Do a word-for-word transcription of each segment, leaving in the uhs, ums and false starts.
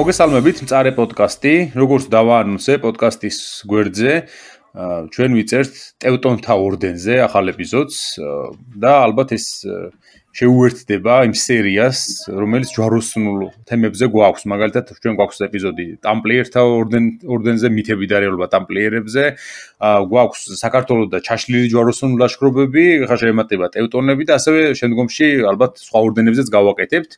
მოგესალმებით, მწარე პოდკასტი, როგორც დავაანონსე პოდკასტის გვერდზე, ჩვენ ვიწერთ ტევტონთა ორდენზე ახალ ეპიზოდს და ალბათ ეს შეუერთდება იმ სერიას, რომელიც ჯვაროსნულ თემებზე გვაქვს. მაგალითად, ჩვენ გვაქვს ეპიზოდი ტამპლიერთა ორდენ ორდენზე, მითები და რეალობა ტამპლიერებზე, გვაქვს საქართველოს და ჩაშლილი ჯვაროსნული ლაშქრობები, ხა შეემატება ტევტონები და ასევე შემდგომში ალბათ სხვა ორდენებზეც გავაკეთებთ.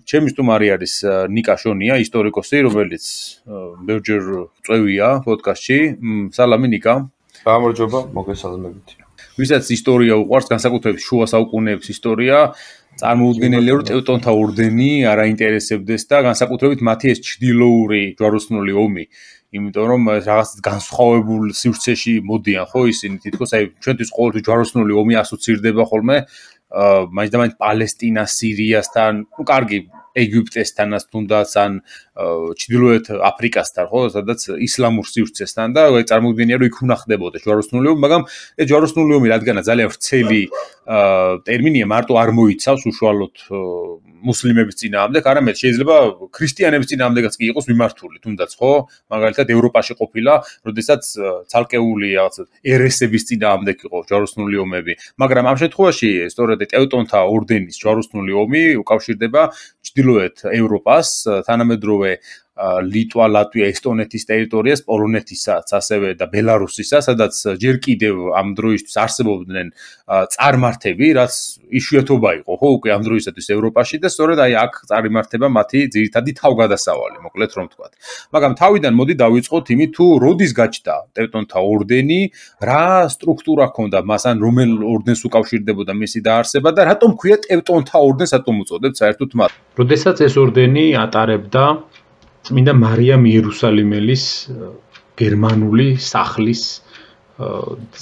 ჩემი სტუმარი არის ნიკა შონია, ისტორიკოსი, რომელიც ბევრჯერ წვევია პოდკასტში. სალამი ნიკა. გამარჯობა, მოგესალმებით. ვისაც ისტორია უყვარს, განსაკუთრებით შუა საუკუნეების ისტორია, წარმოუდგენელია, რომ ტევტონთა ორდენი არ აინტერესებდეს და განსაკუთრებით მათი ეს ჩრდილოური ჯვაროსნული ომი. იმიტომ რომ რაღაც განსხვავებულ სივრცეში მოდიან, ხო, ისინი თითქოს აი ჩვენთვის ყოველთვის ჯვაროსნული ომი ასოცირდება ხოლმე მაინც და მაინც პალესტინა, სირიასთან, ну, კარგი, ეგვიპტესთანაც თუნდაც ან ჩრდილოეთ აფრიკასთან, ხო, სადაც ისლამურ სივრცესთან და წარმოუდგენია, რომ იქ უნდა ხდებოდა ჯვაროსნული ომი, მაგრამ ეს ჯვაროსნული ომი რადგანაც ძალიან ვრცელი ტერმინია, მარტო არ მოიცავს უშუალოდ მუსლიმების წინააღმდეგ, არამედ შეიძლება ქრისტიანების წინააღმდეგაც კი იყოს მიმართული, თუნდაც, ხო? მაგალითად, ევროპაში ყოფილა, როდესაც ცალკეული რაღაც ერესების წინააღმდეგ იყო ჯვაროსნული ომები, მაგრამ ამ შემთხვევაში სწორედ ტევტონთა ორდენის ჯვაროსნული ომი უკავშირდება ჩრდილოეთ ევროპას, თანამედროვე ლიტვა, ლატვია, ესტონეთის ტერიტორიას, პოლონეთისაც, ასევე და ბელარუსისაც, სადაც ჯერ კიდევ ამ დროისთვის არსებობდნენ წარმართები, რაც იშვიათობა იყო, ხო, უკვე ამ დროისათვის ევროპაში და სწორედ აი აქ წარიმართება მათი ძირითადი თავგადასავალი, მოკლედ რომ ვთქვათ. მაგრამ თავიდან მოდი დავიწყოთ იმით, თუ როდის გაჩნდა ტევტონთა ორდენი, რა სტრუქტურა ჰქონდა მას, ან რომელ ორდენს უკავშირდებოდა მისი დაარსება და რატომ ქვია ტევტონთა ორდენს, რატომ უწოდებთ საერთოდ მათ? როდესაც ეს ორდენი ატარებდა წმინდა მარიამ იერუსალიმელის გერმანული სახლის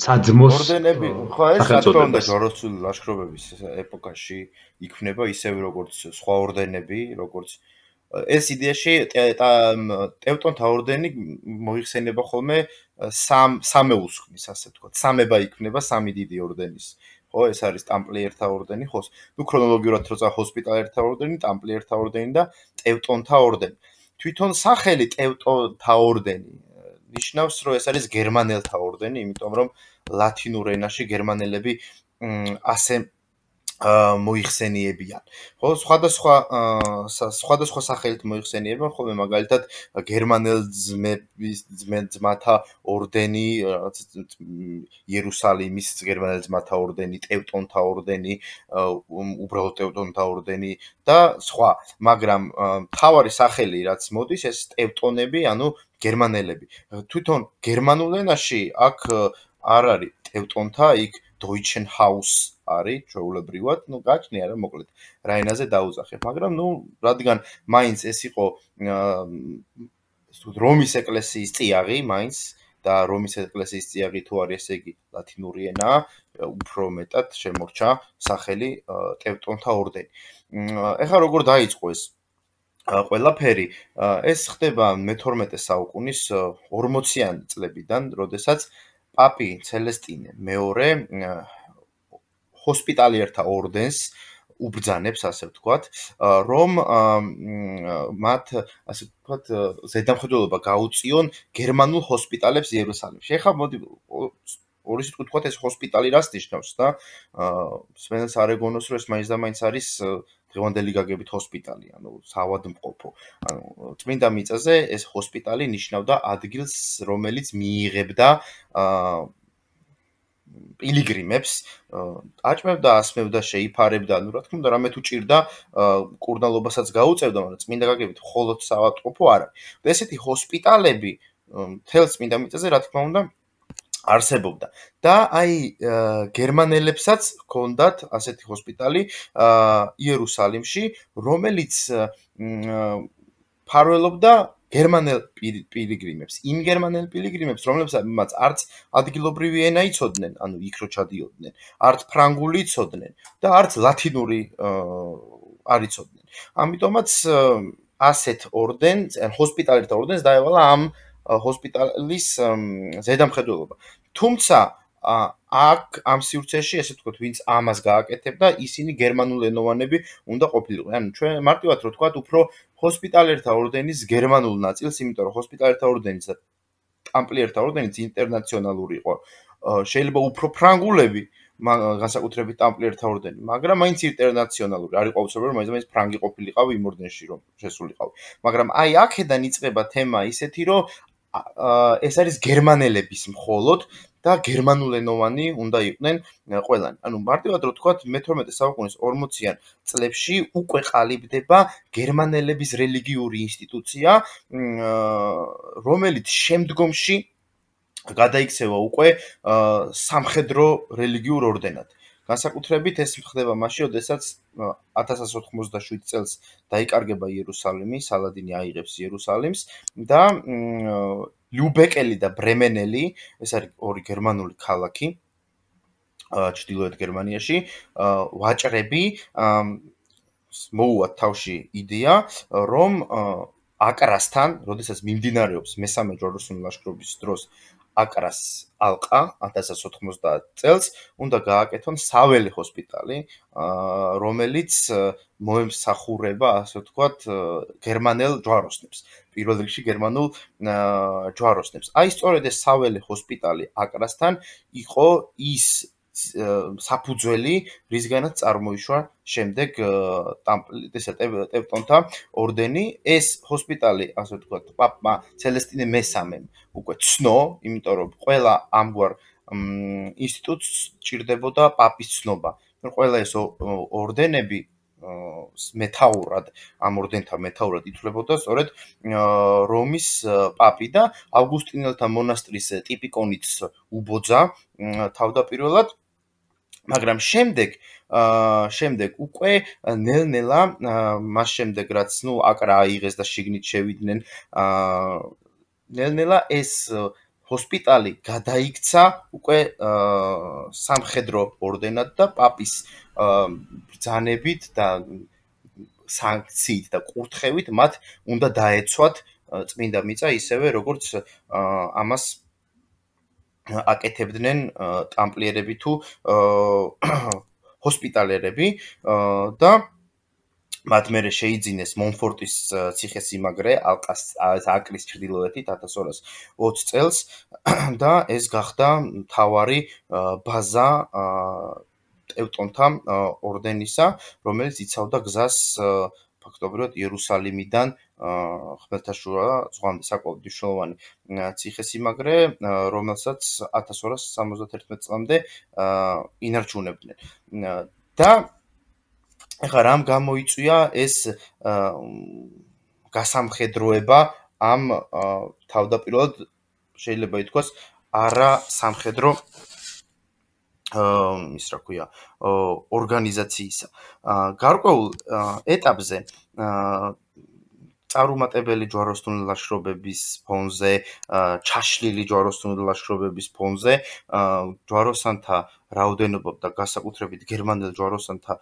საძმოს ორდენები, ხო, ეს საკუთრონდა ჯვაროსნული ლაშქრობების ეპოქაში იქმნება ისევ როგორც სხვა ორდენები, როგორც ეს იდეაში ტევტონთა ორდენი მოიხსენება ხოლმე სამ სამეულს ქმნის, ასე ვთქვათ, სამება იქმნება სამი დიდი ორდენის. ხო, ეს არის ტამპლიერთა ორდენი, ხო, ნუ ქრონოლოგიურად როცა ჰოსპიტალერთა ორდენი, ტამპლიერთა ორდენი და ტევტონთა ორდენი. თვითონ სახელი ტევტონთა ორდენი ნიშნავს, რომ ეს არის გერმანელთა ორდენი, იმიტომ რომ ლათინურ ენაში გერმანელები ასე მოიხსენიებიან. ხო, სხვადასხვა სხვადასხვა სახელით მოიხსენიებიან, ხოლმე მაგალითად გერმანელ ძმათა ორდენი, იერუსალიმის გერმანელ ძმათა ორდენი, ტევტონთა ორდენი, უბრალოდ ტევტონთა ორდენი და სხვა. მაგრამ მთავარი სახელი რაც მოდის, ეს ტევტონები, ანუ გერმანელები. თვითონ გერმანულ ენაში აქ არ არის ტევტონთა, იქ Deutschen Haus არის ჩვეულებრივად, ну, გაჩნია რა, მოკლედ, რა ენაზე დაუძახებ, მაგრამ ну, რადგან მაინც ეს იყო რომის ეკლესიის წიაღი, მაინც და რომის ეკლესიის წიაღი თუ არის, ესე იგი ლათინური ენა, უფრო მეტად შემორჩა სახელი ტევტონთა ორდენი. ეხლა როგორ დაიწყო ეს ყველაფერი, ეს ხდება მეთორმეტე საუკუნის ორმოციანი წლებიდან, როდესაც პაპი ცელესტინე მეორე ჰოსპიტალიერთა ორდენს უბრძანებს, ასე ვთქვათ, რომ მათ, ასე ვთქვათ, ზედამხედველობა გაუწიონ გერმანულ ჰოსპიტალებს იერუსალიმში. ეხლა მოდი ორი სიტყვით ვთქვათ, ეს ჰოსპიტალი რას ნიშნავს და სვენელს არ ეგონოს, რომ ეს მაინც და მაინც არის დღევანდელი გაგებით ჰოსპიტალი, ანუ საავადმყოფო. ანუ წმინდა მიწაზე ეს ჰოსპიტალი ნიშნავდა ადგილს, რომელიც მიიღებდა პილიგრიმებს, აჭმევდა, ასმევდა, შეიფარებდა, ну, რა თქმა უნდა, რამე თუ ჭირდა, კურნალობასაც გაუწევდა, მაგრამ წმინდა გაგებით მხოლოდ საავადმყოფო არ არის. და ესეთი ჰოსპიტალები მთელ წმინდა მიწაზე, რა თქმა უნდა, არსებობდა. და აი გერმანელებსაც ჰქონდათ ასეთი ჰოსპიტალი იერუსალიმში, რომელიც ფარველობდა გერმანელ პილიგრიმებს, იმ გერმანელ პილიგრიმებს, რომლებსაც არც ადგილობრივი ენა იცოდნენ, ანუ იქ რო ჩადიოდნენ, არც ფრანგული იცოდნენ და არც ლათინური არ იცოდნენ. ამიტომაც ასეთ ორდენს, ან ჰოსპიტალერთა ორდენს დაევალა ამ ჰოსპიტალის ზედამხედველობა. თუმცა აქ ამ სივრცეში ესე ვთქვათ, ვინც ამას გააკეთებდა, ისინი გერმანულენოვანები უნდა ყოფილიყვნენ. ანუ ჩვენ მარტივად რო ვთქვათ, უფრო ჰოსპიტალერთა ორდენის გერმანულ ნაწილს, იმიტომ რომ ჰოსპიტალერთა ორდენის და ტამპლიერთა ორდენიც ინტერნაციონალური იყო. შეიძლება უფრო ფრანგულები განსაკუთრებით ტამპლიერთა ორდენი, მაგრამ მაინც ინტერნაციონალური. არ იყო უცებია, რომ მაინც ფრანგი ყოფილიყავი იმ ორდენში, რომ შესულიყავი. მაგრამ აი აქედან იწყება თემა ისეთი, რომ ეს არის გერმანელების მხოლოდ და გერმანულენოვანი უნდა იყვნენ ყველანი. ანუ მარტივად რო ვთქვათ, მეთორმეტე საუკუნის ორმოციან წლებში უკვე ყალიბდება გერმანელების რელიგიური ინსტიტუცია, რომელიც შემდგომში გადაიქცევა უკვე სამხედრო რელიგიურ ორდენად. განსაკუთრებით ეს ხდება მაშინ, როდესაც ათას ათას ოთხმოცდაშვიდ წელს დაიკარგება იერუსალიმი, სალადინი აიღებს იერუსალიმს და ლიუბეკელი და ბრემენელი, ეს არის ორი გერმანული ქალაქი ჩრდილოეთ გერმანიაში, ვაჭრები მოუვათ თავში იდეა, რომ აკრასთან, როდესაც მიმდინარეობს მესამე ჯვაროსნული ლაშქრობის დროს აკრას ალყა ათას ათას ოთხმოცდაათ წელს, უნდა გააკეთონ საველე ჰოსპიტალი, რომელიც მოემსახურება, ასე ვთქვათ, გერმანელ ჯვაროსნებს. პირველ რიგში გერმანულ ჯვაროსნებს. აი სწორედ ეს საველე ჰოსპიტალი აკრასთან იყო ის საფუძველი, რისგანაც წარმოიშვა შემდეგ ტევტონთა ორდენი. ეს ჰოსპიტალი, ასე ვთქვათ, პაპმა ცელესტინე მესამემ უკვე ცნო, იმიტომ რომ ყველა ამგვარ ინსტიტუტს ჭირდებოდა პაპის ცნობა. ყველა ეს ორდენები მეთაურად, ამ ორდენთა მეთაურად ითვლებოდა სწორედ რომის პაპი და ავგუსტინელთა მონასტრის ტიპიკონიც უბოძა თავდაპირველად, მაგრამ შემდეგ შემდეგ უკვე ნელ-ნელა მას შემდეგ რაც ნუ აკრა აიღეს და შიგნით შევიდნენ, ნელ-ნელა ეს ჰოსპიტალი გადაიქცა უკვე სამხედრო ორდენად და პაპის ბრძანებით და სანქციით და კურთხევით მათ უნდა დაეცვათ წმინდა მიწა ისევე როგორც ამას აკეთებდნენ ტამპლიერები თუ ჰოსპიტალერები და მათ მერე შეიძინეს მონფორტის ციხესიმაგრე აკრის ჩრდილოეთით ათას ორას ოცი წელს და ეს გახდა მთავარი ბაზა ტევტონთა ორდენისა, რომელიც იცავდა გზას ფაქტობრივად იერუსალიმიდან ხმელთაშუა ზღვამდე საკმაოდ მნიშვნელოვანი ციხესიმაგრე, რომელსაც ათას ორას სამოცდათერთმეტ წლამდე ინარჩუნებდნენ. და ეხლა რამ გამოიწვია ეს გასამხედროება ამ თავდაპირველად შეიძლება ითქვას არა სამხედრო ის რა ქვია ორგანიზაციისა. გარკვეულ ეტაპზე წარუმატებელი ჯვაროსნული ლაშქრობების ფონზე, ჩაშლილი ჯვაროსნული ლაშქრობების ფონზე ჯვაროსანთა რაოდენობამ და განსაკუთრებით გერმანელ ჯვაროსანთა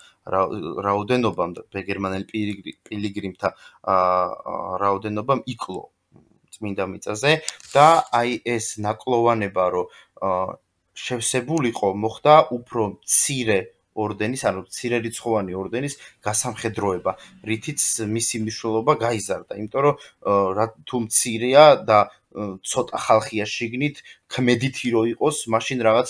რაოდენობამ და გერმანელ პილიგრიმთა რაოდენობამ იკლო წმინდა მიწაზე და აი ეს ნაკლოვანება, რომ შევსებულიყო, მოხდა უფრო მცირე ორდენის, ანუ მცირერიცხოვანი ორდენის გასამხედროება, რითიც მისი მნიშვნელობა გაიზარდა, იმიტომ რომ თუ მცირეა და ცოტა ხალხია შიგნით, ქმედითი რო იყოს, მაშინ რაღაც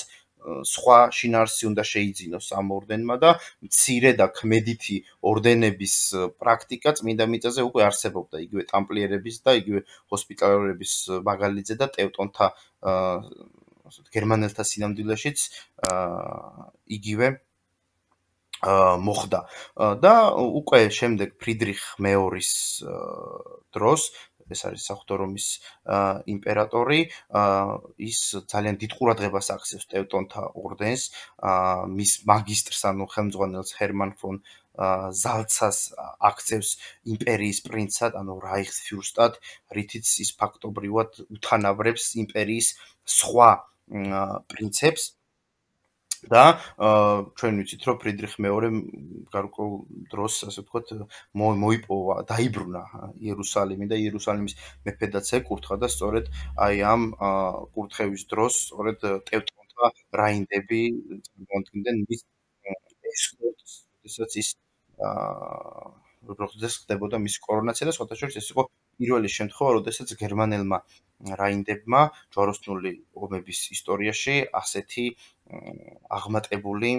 სხვა შინაარსი უნდა შეიძინოს ამ ორდენმა და მცირე და ქმედითი ორდენების პრაქტიკა წმინდა მიწაზე უკვე არსებობდა, იგივე ტამპლიერების და იგივე ჰოსპიტალერების მაგალითზე და ტევტონთა გერმანელთა სინამდვილეშიც იგივე მოხდა და უკვე შემდეგ ფრიდრიხ მეორის დროს, ეს არის საღვთო რომის იმპერატორი, ის ძალიან დიდ ყურადღებას აქცევს ტევტონთა ორდენს, მის მაგისტრს, ანუ ხელმძღვანელს ჰერმან ფონ ზალცას აქცევს იმპერიის პრინცად, ანუ რაიხსფიურსტად, რითიც ის ფაქტობრივად უთანაბრებს იმპერიის სხვა პრინცებს და ჩვენ ვიცით, რომ ფრიდრიხ მეორემ გარკვეულ დროს, ასე ვთქვათ, მოიპოვა, დაიბრუნა იერუსალიმი და იერუსალიმის მეფედაც ეკურთხა და სწორედ აი ამ კურთხევის დროს, სწორედ ტევტონთა ეხება რაინდები წარმოადგენდნენ მის ესკორტს, როდესაც ის როდესაც ხდებოდა მის კორონაცია და სხვათა შორის ეს იყო პირველი შემთხვევა, როდესაც გერმანელმა რაინდებმა ჯვაროსნული ომების ისტორიაში ასეთი აღმატებული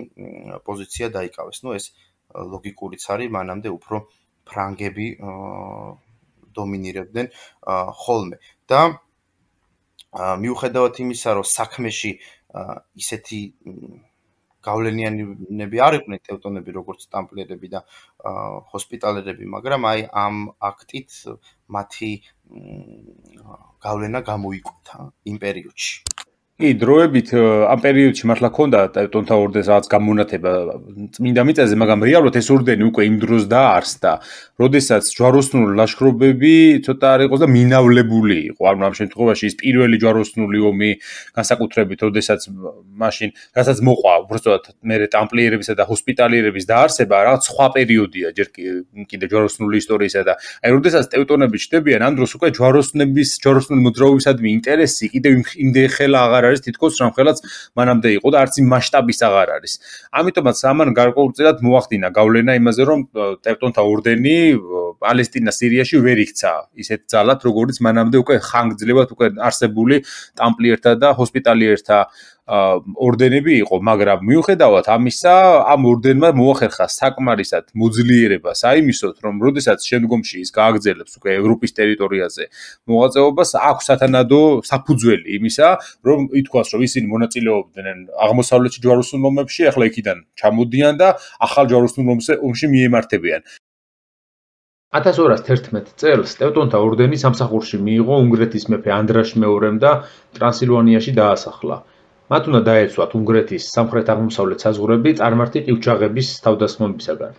პოზიცია დაიკავეს. ნუ ეს ლოგიკურიც არის, მანამდე უფრო ფრანგები დომინირებდნენ ხოლმე და მიუხედავად იმისა, რომ საქმეში ისეთი გავლენიანები არ იყვნენ ტევტონები, როგორც ტამპლიერები და ჰოსპიტალერები, მაგრამ აი ამ აქტით მათი გავლენა გამოიკვეთა იმ პერიოდში. კი, დროებით ამ პერიოდში მართლა ქონდა ტევტონთა ორდენს რაღაც გამონათება წმინდა მიწაზე, მაგრამ რეალურად ეს ორდენი უკვე იმ დროს დაარსდა, როდესაც ჯვაროსნული ლაშქრობები ცოტა არ იყოს და მინავლებული იყო. ანუ ამ შემთხვევაში ის პირველი ჯვაროსნული ომი განსაკუთრებით, როდესაც მაშინ, რასაც მოყვა უბრალოდ მერე ტამპლიერებისა და ჰოსპიტალიერების დაარსება, რაღაც სხვა პერიოდია, ჯერ კიდე ჯვაროსნული ისტორიისა და აი როდესაც ტევტონები ჩნდებიან, ამ დროს უკვე ჯვაროსნების, ჯვაროსნული მოძრაობისადმი ინტერესი კიდევ იმდენ ხელა აღარ არის თითქოს რამხელაც მანამდე იყო და არც იმ მასშტაბის აღარ არის. ამიტომაც ამან გარკვეულწილად მოახდინა გავლენა იმაზე, რომ ტევტონთა ორდენი პალესტინა, სირიაში ვერ იქცა ისეთ ძალად, როგორც მანამდე უკვე ხანგრძლივად უკვე არსებული ტამპლიერთა და ჰოსპიტალიერთა ორდენები იყო, მაგრამ მიუხედავად ამისა, ამ ორდენმა მოახერხა საკმარისად მოძლიერება საიმისოთ, რომ როდესაც შემდგომში ის გააგრძელებს უკვე ევროპის ტერიტორიაზე მოღვაწეობას, აქვს სათანადო საფუძველი იმისა, რომ ითქვას, რომ ისინი მონაწილეობდნენ აღმოსავლეთში ჯვაროსნულ ომებში, ახლა იქიდან ჩამოდიან და ახალ ჯვაროსნულ ომში მიემართებიან. ათას ორას თერთმეტ წელს ტევტონთა ორდენი სამსახურში მიიღო უნგრეთის მეფე ანდრაშ მეორემ და ტრანსილვანიაში დაასახლა. მათ უნდა დაეცვათ უნგრეთის სამხრეთ-აღმოსავლეთ საზღვრები წარმართი ყივჩაღების თავდასხმებისაგან.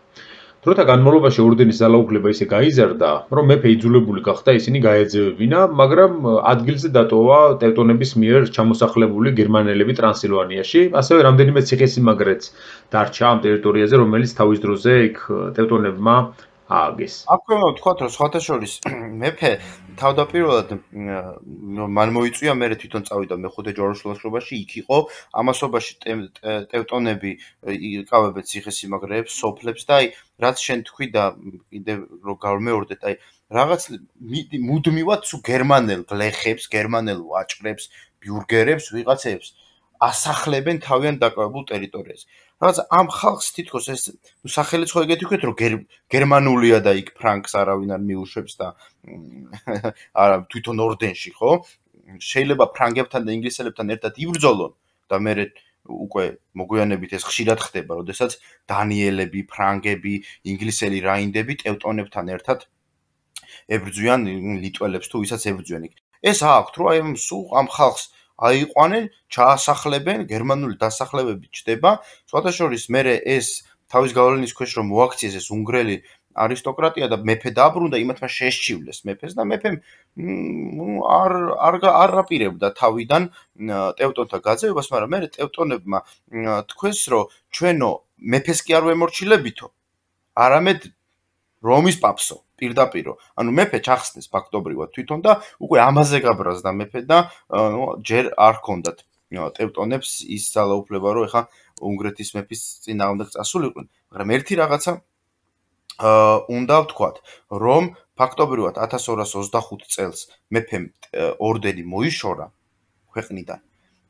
დროთა განმავლობაში ორდენის ძალაუფლება ისე გაიზარდა, რომ მეფე იძულებული გახდა ისინი გაეძევებინა, მაგრამ ადგილზე დატოვა ტევტონების მიერ ჩამოსახლებული გერმანელები ტრანსილვანიაში, ასევე რამდენიმე ციხესიმაგრეც დარჩა ამ ტერიტორიაზე, რომელიც თავის დროზე იქ ტევტონებმა ააგეს. აქვე ვთქვათ, რომ სხვათა შორის მეფე თავდაპირველად მან მოიწვია, მერე თვითონ წავიდა მეხუთე ჯვაროსნულ ლაშქრობაში, იქ იყო ამასობაში ტევტონები იკავებენ ციხესიმაგრეებს, სოფლებს და აი რაც შენ თქვი და კიდევ რო გავმეორდეთ, აი რაღაც მუდმივად სულ გერმანელ გლეხებს, გერმანელ ვაჭრებს, ბიურგერებს, ვიღაცებს ასახლებენ თავიანთ დაკავებულ ტერიტორიაზე. რაც ამ ხალხს თითქოს ეს სახელიც ხო ეგეთი ვქეთ, რომ გერმანულია და იქ ფრანკს არავინ არ მიუშვებს და არა თვითონ ორდენში, ხო? შეიძლება ფრანგებთან და ინგლისელებთან ერთად იბრძოლონ და მერე უკვე მოგვიანებით ეს ხშირად ხდება, როდესაც დანიელები, ფრანგები, ინგლისელი რაინდები ტევტონებთან ერთად ებრძვიან ლიტველებს თუ ვისაც ებრძვიან იქ. ეს აქვთ, რომ აი სულ ამ ხალხს აიყვანენ, ჩაასახლებენ, გერმანული დასახლებები ჩდება, სხვათა შორის მერე ეს თავის გავლენის ქვეშ რომ მოაქციეს ეს უნგრელი არისტოკრატია და მეფე დაბრუნდა, იმათმა შეესჩივლეს მეფეს და მეფემ არ არ არ აპირებდა თავიდან ტევტონთა გაძევებას, მაგრამ მერე ტევტონებმა თქვეს, რომ ჩვენო მეფეს კი არ ვემორჩილებითო, არამედ რომის პაპსო პირდაპირო. ანუ მეფე ჩახსნეს ფაქტობრივად თვითონ და უკვე ამაზე გაბრაზდა მეფე და ჯერ არ ჰქონდათ ტევტონებს ის ძალაუფლება, რომ ეხა უნგრეთის მეფის წინააღმდეგ წასულიყვნენ, მაგრამ ერთი რაღაცა უნდა ვთქვათ, რომ ფაქტობრივად ათას ორას ოცდახუთ წელს მეფემ ორდენი მოიშორა ქვეყნიდან,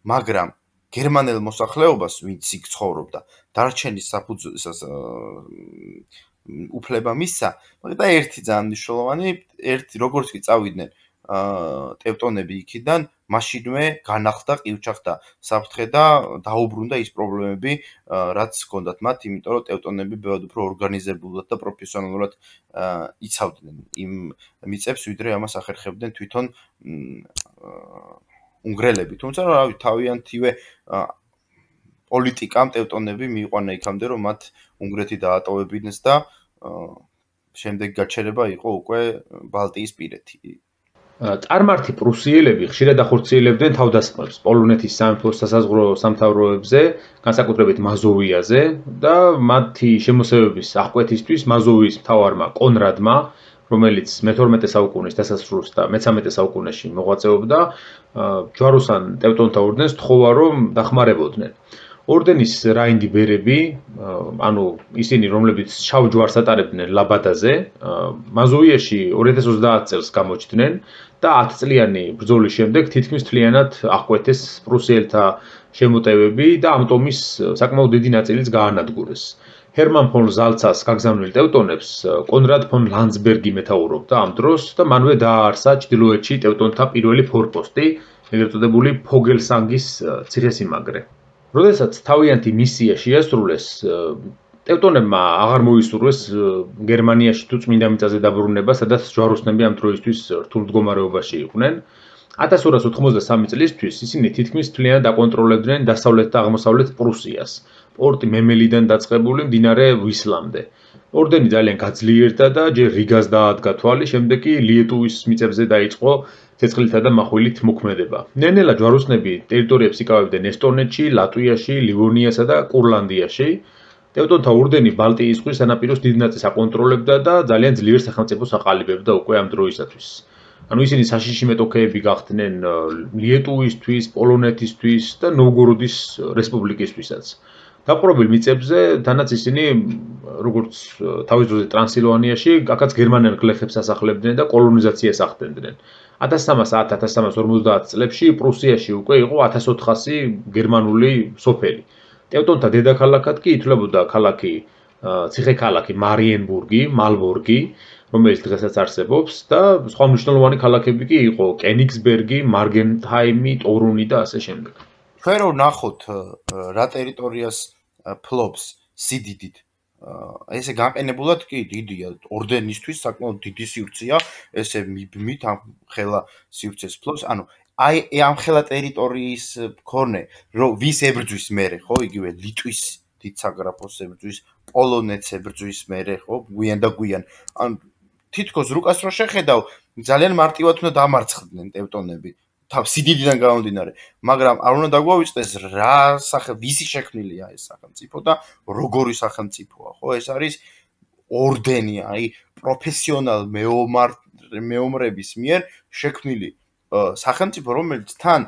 მაგრამ გერმანელ მოსახლეობას, ვინც იქ ცხოვრობდა, დარჩენის საფუძველს უფლება მისცა, მაგრამ ერთი ძალიან მნიშვნელოვანი, ერთი როგორც კი წავიდნენ ტევტონები იქიდან, მაშინვე განახლდა ყივჩაღთა საფრთხე და დაუბრუნდა ის პრობლემები, რაც ჰქონდათ მათ, იმიტომ რომ ტევტონები ბევრად უფრო ორგანიზებულად და პროფესიონალურად იცავდნენ იმ მიწებს, ვიდრე ამას ახერხებდნენ თვითონ უნგრელები. თუმცა რავი, თავიანთივე პოლიტიკამ ტევტონები მიიყვანა იქამდე, რომ მათ უნგრეთი დაატოვებინეს და შემდეგ გაჩერება იყო უკვე ბალტიის პირეთი. წარმართი პრუსიელები ხშირად ახორციელებდნენ თავდასხმებს პოლონეთის სამეფოს სასაზღვრო სამთავროებზე, განსაკუთრებით მაზოვიაზე და მათი შემოსევების აღკვეთისთვის მაზოვიის მთავარმა კონრადმა რომელიც მეთორმეტე საუკუნის დასასრულს და მეცამეტე საუკუნეში მოღვაწეობდა, ჯვაროსან ტევტონთა ორდენს თხოვა რომ დახმარებოდნენ. ორდენის რაინდი ბერები, ანუ ისინი რომლებიც შავ ჯვარს ატარებდნენ ლაბადაზე, მაზოვიაში ორი ათას ოცდაათ წელს გამოჩნდნენ და ათ წლიანი ბრძოლის შემდეგ თითქმის მთლიანად აღკვეთეს პრუსიელთა შემოტევები და ამ ტომის საკმაოდ დიდი ნაწილიც გაანადგურეს. ჰერმან ფონ ზალცას გაგზავნილ ტევტონებს კონრად ფონ ლანდსბერგი მეთაურობდა ამ დროს და მანვე დააარსა ჩრდილოეთში ტევტონთა პირველი ფორპოსტი, ეგრეთ წოდებული ფოგელსანგის ციხესიმაგრე. როდესაც თავიანთი მისია შეასრულეს, ტევტონებმა აღარ მოისურვეს გერმანიაში თუ წმინდა მიწაზე დაბრუნება, სადაც ჯვაროსნები ამ დროისთვის რთულ მდგომარეობაში იყვნენ. ათას ორას ოთხმოცდასამი წლისთვის ისინი თითქმის მთლიანად აკონტროლებდნენ დასავლეთ და აღმოსავლეთ პრუსიას, პორტი მემელიდან დაწყებული მდინარე ვისლამდე. ორდენი ძალიან გაძლიერდა და ჯერ რიგას დაადგა თვალი, შემდეგ კი ლიეტუვის მიწებზე დაიწყო ცეცხლითა და מחვილით მოქმედება. ნელ-ნელა ჯვაროსნები ტერიტორიებს იკავებდნენ ესტონეთში, ლატვიაში, ლივონიასა და კურლანდიაში. ტევტონთა ორდენი ბალტიის ზღვის სანაპიროს დიდ ნაწილს აკონტროლებდა და ძალიან ძლიერ სახელმწიფოს აყალიბებდა უკვე ამ დროისათვის. ანუ ისინი საშიში მეტოქეები გახდნენ ლიეტუვისთვის, პოლონეთისთვის და ნოვგოროდის რესპუბლიკისთვისაც. დაპყრობილ მიწებზე თანაც ისინი როგორც თავის დროზე ტრანსილვანიაში, აქაც გერმანელ გლეხებს ასახლებდნენ და კოლონიზაციას ახდენდნენ. ათას სამას ათ - ათას სამას ორმოცდაათ წლებში პრუსიაში უკვე იყო ათას ოთხასი გერმანული სოფელი. ტევტონთა დედაქალაქად კი ითვლებოდა ქალაქი ციხე-ქალაქი მარიენბურგი, მალბორგი, რომელიც დღესაც არსებობს და სხვა მნიშვნელოვანი ქალაქები კი იყო კენიგსბერგი, მარგენჰაიმი, ტორუნი და ასე შემდეგ. ჩვენ რო ვნახოთ რა ტერიტორიას ფლობს სიდიდით, ესე განყენებულად კი დიდია, ორდენისთვის საკმაოდ დიდი სივრცეა, ესე მიბმით ამ ხელა სივრცეს ფლობს, ანუ აი ამ ხელა ტერიტორიის მქონე, რომ ვის ებრძვის მერე, ხო, იგივე ლიტვის დიდ საგრაფოს ებრძვის, პოლონეთს ებრძვის მერე, ხო, გვიან და გვიან. ან თითქოს რუკას რო შეხედავ, ძალიან მარტივად უნდა დამარცხდნენ ტევტონები. თავ სიდიდიდან გამომდინარე, მაგრამ არ უნდა დაგვავიწყდეს რა სახე ვისი შექმნილია ეს სახელმწიფო და როგორი სახელმწიფოა, ხო? ეს არის ორდენი, აი პროფესიონალ მეომარ მეომრების მიერ შექმნილი სახელმწიფო, რომელიც თან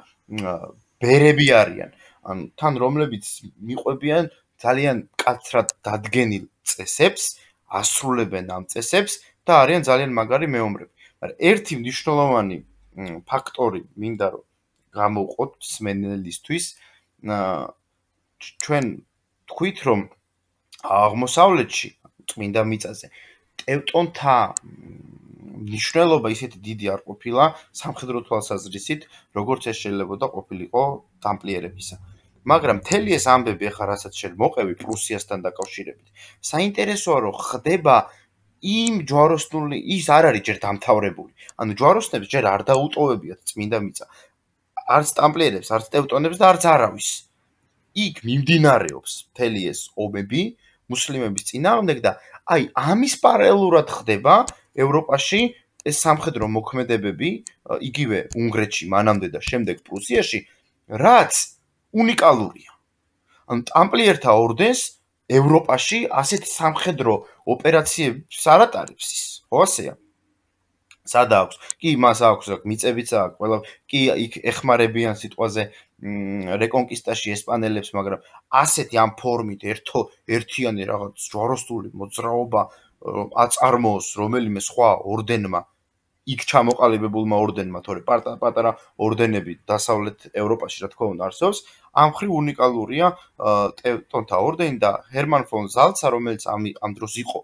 ბერები არიან, ანუ თან რომლებიც მიყვებიან ძალიან მკაცრად დადგენილ წესებს, ასრულებენ ამ წესებს და არიან ძალიან მაგარი მეომრები. მაგრამ ერთი მნიშვნელოვანი ფაქტორი მინდა რომ გამოვყოთ მსმენელისთვის, ჩვენ თქვით რომ აღმოსავლეთში წმინდა მიწაზე ტევტონთა მნიშვნელობა ისეთი დიდი არ ყოფილა სამხედრო თვალსაზრისით, როგორც ეს შეიძლება ყოფილიყო დამპლიერებისა. მაგრამ მთელი ეს ამბები ახლა რასაც შენ მოყევი პრუსიასთან დაკავშირებით, საინტერესოა რომ ხდება იმ ჯვაროსნული ის არ არის ჯერ დამთავრებული. ანუ ჯვაროსნებს ჯერ არ დაუტოვებიათ წმინდა მიწა. არც ტამპლიერებს, არც ტევტონებს და არც არავის. იქ მიმდინარეობს მთელი ეს ომები მუსლიმების წინააღმდეგ და აი ამის პარალელურად ხდება ევროპაში ეს სამხედრო მოქმედებები, იგივე უნგრეთში, მანამდე და შემდეგ პრუსიაში, რაც უნიკალურია. ანუ ტამპლიერთა ორდენს ევროპაში ასეთ სამხედრო ოპერაციებს არ ატარებს ის, ხო ასეა? სადა აქვს? კი, მას აქვს, მიწებიც აქვს, ყველა კი იქ ეხმარებიან სიტყვაზე რეკონკისტაში ესპანელებს, მაგრამ ასეთი ამ ფორმით ერთო ერთიანი რაღაც ჯვაროსნული მოძრაობა აწარმოოს რომელიმე სხვა ორდენმა, იქ ჩამოყალიბებულმა ორდენმა, თორე პატარა ორდენები დასავლეთ ევროპაში რა თქმა უნდა არსებობს, ამ ხრივ უნიკალურია ტევტონთა ორდენი და ჰერმან ფონ ზალცა, რომელიც ამ ამ დროს იყო